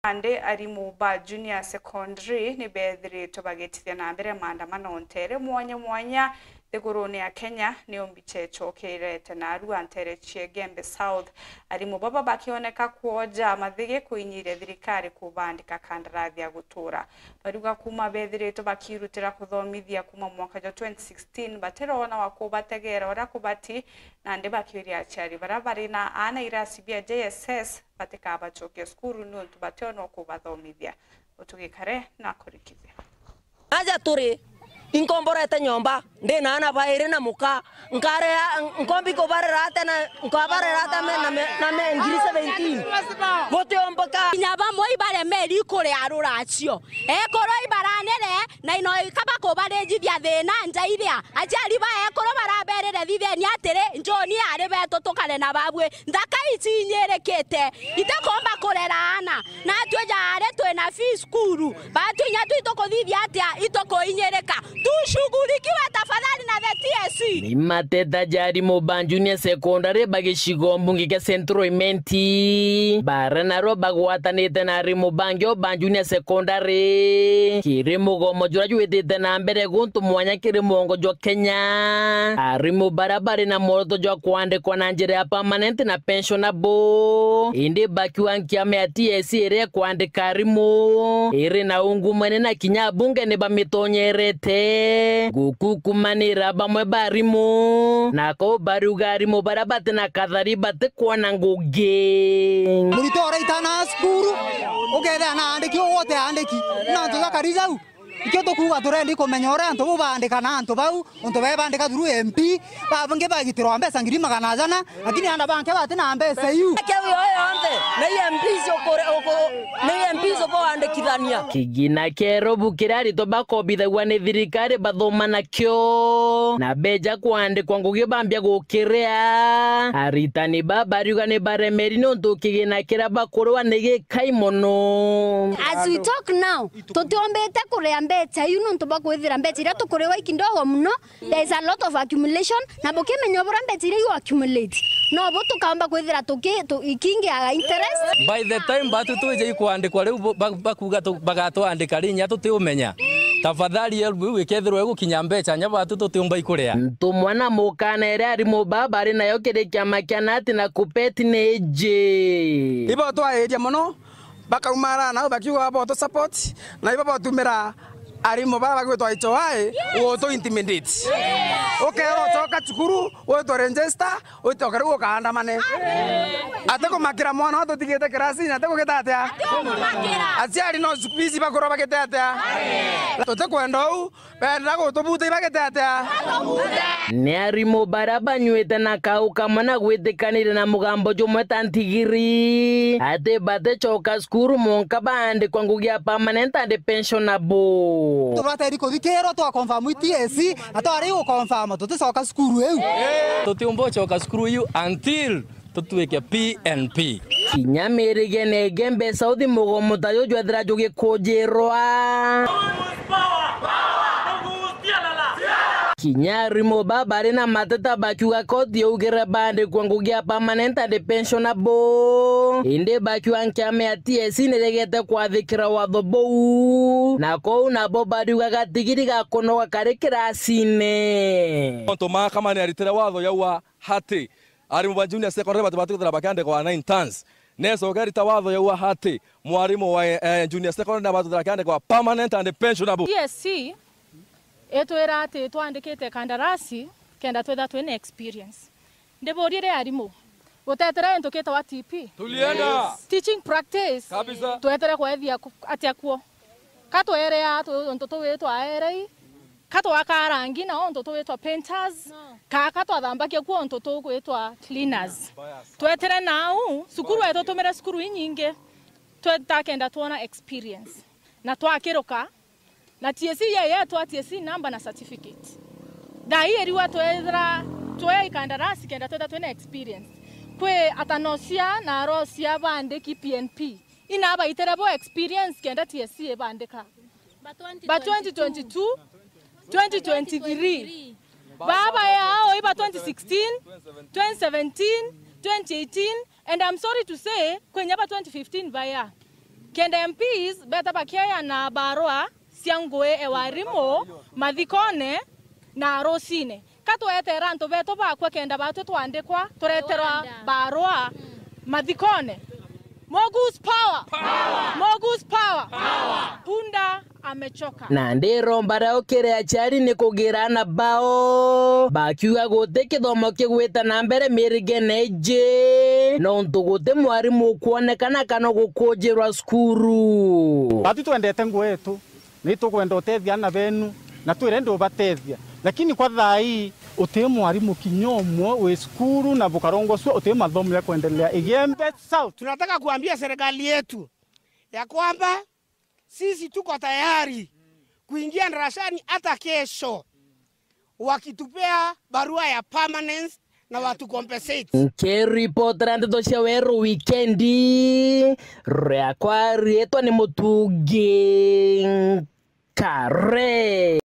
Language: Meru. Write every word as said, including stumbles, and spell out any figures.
Nandi arimu ba Junior Secondary ni beethiritwe bagitithia na mbere maandamano nteere mwanya mwanya nthigurune ya Kenya, niyo mbicha icokerete narua nteere cia Igembe South. Arimu baba bakioneka kwoja mathigi kuinyiria thirikari kubandika kandarathi ya gutura. Bariuga kuuma beethiritwe bakirutira kuthomithia kuuma mwaka jwa twenty sixteen, batiroona wa kubategeera uria kubati, nandi bakiuria aciari baria bari na aana irasi bia J S S batikabacokia cukuru niuntu bationa ukubathomithia. Utugikare na kurikithia. Aja turi, inkomborete nyomba, ndi na aana bairi na muka, nkarea, nkombi kubarera ate na, nkabarera ate me, na me, na me ngiri seventeen? Gutiumbuka. Kinya bamwe ibaremeri kuria ruracio. Ekuru ibaranire, na ino ikaba kubarijithia thina nja iria aciari ba ekuru baraberire, thitheni atiri, njoni ari betu tukare na babui. Nthaka icinyirikite, itikumba kurera aana. Natwi jaari twina fees cukuru, batu inya twi tukuthithia atia itukuinyirika? Tushughulikiwe tafadhali na the T S C. Ni mateta ja arimu ba Junior Secondary ba gicigo mbunge kia Central Imenti, bara narua bagwatanite na arimu bangi o ba Junior Secondary kiri mugomo juria jwitite na mbere guntu mwanya kiri mwongo jwa Kenya. Arimu baria bari na mworoto jwa kwandikwa na njira ya permanent na pensionable, indi bakiuga nkiama ya T S C iria ikwandika arimu iri na ungumania na kinya abunge ni bamitonyerete gukukumanira bamwe ba arimu, na kou bariuga arimu baria bati na kathari batikwona ngugi. Muritwa uraitana cukuru, ukethira na andiki, ugwe uti andiki, na antu ja kari jau. Ikio tukuuga turendi kumenya uria antu bau baandika na antu bau, untu bebandika through M P, bangi bagitirwa mbeca ngiri magana jana, lakini aana bangi bati na mbeca iu. Kiu yoyo yonthe, ni M Ps ukure-, uku-, ni M Ps ukuandikithania. Kigina kia irobu kiria aritwa bakobithagua ni thirikari bathoma nakio, na beja kwandikwa ngugi bambia gukiria. Aritani baba bariuga ni baremeri niuntu kigina kiria bakuriwa ni gikai mono. As we talk now, tutiombite kuria mbeca iu niuntu bwa kwithira mbeca iria tukuriwa i kidogo mono. There is a lot of accumulation, na bukimenya buria mbeca iria igu accumulate, nobu tukaomba kwithira tuki-, tu-, ikiingiaga interest. By the time batu twija ikwandikwa riu bu-, ba-, bakuuga tu-, bagatwandika ri, inya tutiumenya. Tafadhali help iu ikethirwa igukinya mbeca, inya batu tutiumba ikuria. Ntumwa na mukana iria arimu baba bari nayo kiri kiama kia nati na KUPPET ni iji. Ibo twairia mono, bakaumara nau bakiuga botu support, na ibo botumira arimu bara bagwitwa H O I gutu intimidate. Ukeerwa ucoka cukuru, witwe register, ucoke riu ukaandamane. Ati kumakira mwana ututigite kirasini, ati kugita atia? Aciari no cukuru ici bakurwa bagite atia? Tutikwenda uu. Benda gutubuta ibagite atia? Ni arimu baria banyuite na kau kamwe na gwitikanire na mugambo jumwe ta ntigiri, ati baticoka cukuru mwanka baandikwa ngugi ya permanent and pensionable. Tubateri kuthikirwa twa confirm T S C, na twari gu confirm tuticoka cukuru iu. Tutiumba ucoka cukuru iu until tutwike P N P. Kinya mirigene Igembe South mugomo ta juju jwethira jugikujirwa. Kinya arimu baba bari na mateta bakiuga koti yaugire baandikwa ngugi ya permanent and pensionable, indi bakiuga nkiama ya T S C niregete kwathikira watho buu, na kou nabo bariuga gatigiri gakunoga kari kirasine. Ontu mahakama ni aritire watho yaua hati arimu ba junior secondary bati-, batithira bakiandikwa nine tons. Necoka irita watho yaua hati mwarimu wa, eh, junior secondary nabatithira akiandikwa permanent and pensionable. T S C itwira ati twandikite kandarasi kenda twitha twina experience. Ndiburie ri arimu, gutetera into kitagwa T P? Tulienda. Teaching practice. Kabisa. Twetere kwethia ku-, atia kuo? Ka twerea tu-, untu tuwi twaerei? Ka twaka rangi na untu tugwitwa painters? No. Ka, ka twathambagia kuo untu tugwitwa cleaners? Twetere nau, cukuru wetu tumire cukuru inyingi, tweta kenda twona experience. Na twakiruka, na T S C ye, yetwa T S C number na certificate. Thaa ii iriwa twethira, twe ikandarasi kenda twetha twina experience. Kwi atanocia na arocia baandiki P N P. Ina baitere bo experience kenda T S C ibandika. Ba twenty twenty-two, twenty twenty-three. Baba yao iba twenty sixteen, twenty seventeen, twenty eighteen, and I'm sorry to say, kwenye ba twenty fifteen baya. Kenda M Ps beta bakieana barua cia ngui e warimu mathikone na arucine. Ka tweteera antu betu bakua kenda batwi twandikwa, tureterwa barua mathikone? Mogus power! Mogus power! Punda amechoka. Na ndiromba riu kiri aciari ni kugira ana bao, bakiuga guti kithomo kigwita na mbere mirigene iji, nontu guti mwarimu ukwonekana kana gukujirwa cukuru. Batu twendete ngugi yetu, ni tukwenda utethia ana benu, na twire ndi ubatethia. Lakini kwa thaa ii, uti mwarimu kinya umwe wi cukuru, na bukarongocua uti mathomo ya kuendelea Igembe South. Tunataka kuambia serikali yetu ya kwamba sisi tuko tayari kuingia darasani hata kesho, wakitupea barua ya permanence na watu compensate. Nkiripotera ndeto cia Weru Wikendi, riakwa riitwa ni Mutungi Nkare.